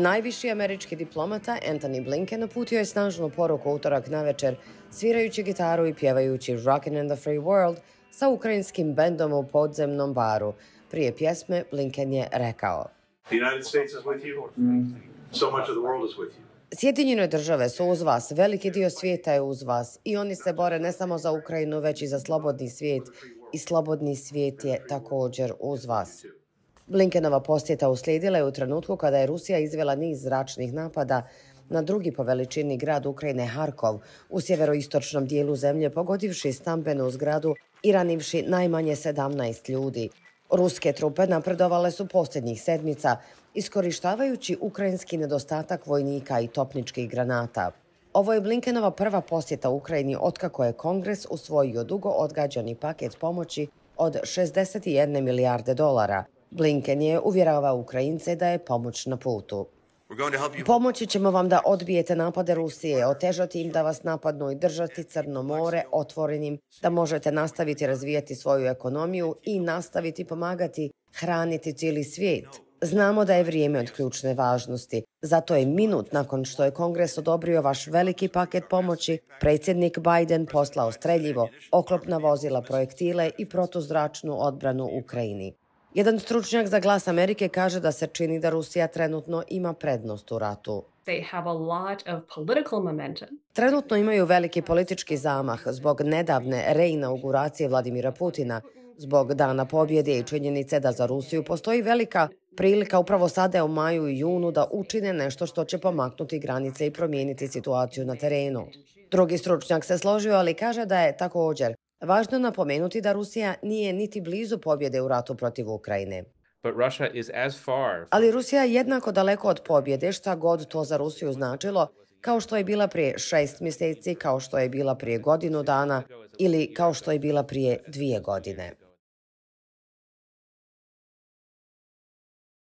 Najviši američki diplomata Antony Blinken uputio je snažnu poruku utorak navečer, svirajući gitaru i pjevajući Rockin' in the Free World sa ukrajinskim bendom u podzemnom baru. Prije pjesme Blinken je rekao: The United States is with you. So much of the world is with you. Sjedinjene države su uz vas, veliki dio svijeta je uz vas i oni se bore ne samo za Ukrajinu, već i za slobodni svijet i slobodni svijet je također uz vas. Blinkenova posjeta uslijedila je u trenutku kada je Rusija izvela niz zračnih napada na drugi po veličini grad Ukrajine Harkov u sjeveroistočnom dijelu zemlje, pogodivši stambenu zgradu i ranivši najmanje 17 ljudi. Ruske trupe napredovale su posljednjih sedmica, iskorištavajući ukrajinski nedostatak vojnika i topničkih granata. Ovo je Blinkenova prva posjeta Ukrajini otkako je Kongres usvojio dugo odgađani paket pomoći od 61 milijarde dolara. Blinken je uvjeravao Ukrajince da je pomoć na putu. Pomoći ćemo vam da odbijete napade Rusije, otežati im da vas napadnu i držati Crno more otvorenim, da možete nastaviti razvijati svoju ekonomiju i nastaviti pomagati hraniti cijeli svijet. Znamo da je vrijeme od ključne važnosti. Zato je minut nakon što je Kongres odobrio vaš veliki paket pomoći, predsjednik Biden poslao streljivo, oklopna vozila, projektile i protuzračnu odbranu Ukrajini. Jedan stručnjak za Glas Amerike kaže da se čini da Rusija trenutno ima prednost u ratu. Trenutno imaju veliki politički zamah zbog nedavne reinauguracije Vladimira Putina, zbog Dana pobjede i činjenice da za Rusiju postoji velika prilika upravo sada u maju i junu da učine nešto što će pomaknuti granice i promijeniti situaciju na terenu. Drugi stručnjak se složio, ali kaže da je također važno napomenuti da Rusija nije niti blizu pobjede u ratu protiv Ukrajine. Ali Rusija je jednako daleko od pobjede, šta god to za Rusiju značilo, kao što je bila prije 6 mjeseci, kao što je bila prije godinu dana ili kao što je bila prije 2 godine.